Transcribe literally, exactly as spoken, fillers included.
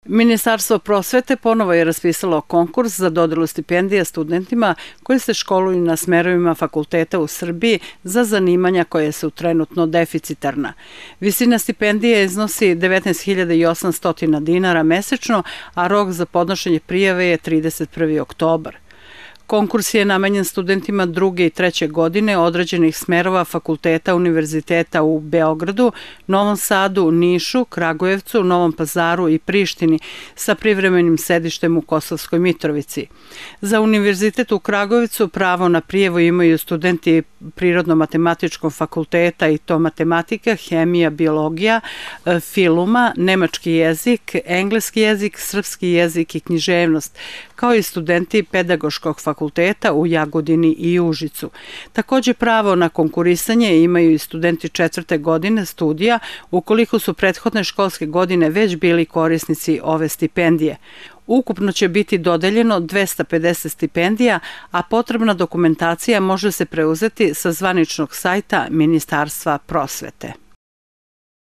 Ministarstvo prosvete ponovo je raspisalo konkurs za dodelu stipendija studentima koji se školuju na smerovima fakulteta u Srbiji za zanimanja koje su trenutno deficitarna. Visina stipendije iznosi devetnaest hiljada osamsto dinara mesečno, a rok za podnošenje prijave je trideset prvi oktobar. Konkurs je namenjen studentima druge i treće godine određenih smerova fakulteta univerziteta u Beogradu, Novom Sadu, Nišu, Kragujevcu, Novom Pazaru i Prištini sa privremenim sedištem u Kosovskoj Mitrovici. Za univerzitet u Kragujevcu pravo na prijavu imaju studenti Prirodno-matematičkog fakulteta i to matematika, hemija, biologija, filuma, nemački jezik, engleski jezik, srpski jezik i književnost, kao i studenti Pedagoškog fakulteta u Jagodini i Užicu. Takođe pravo na konkurisanje imaju i studenti četvrte godine studija ukoliko su prethodne školske godine već bili korisnici ove stipendije. Ukupno će biti dodeljeno dvesta pedeset stipendija, a potrebna dokumentacija može se preuzeti sa zvaničnog sajta Ministarstva prosvete.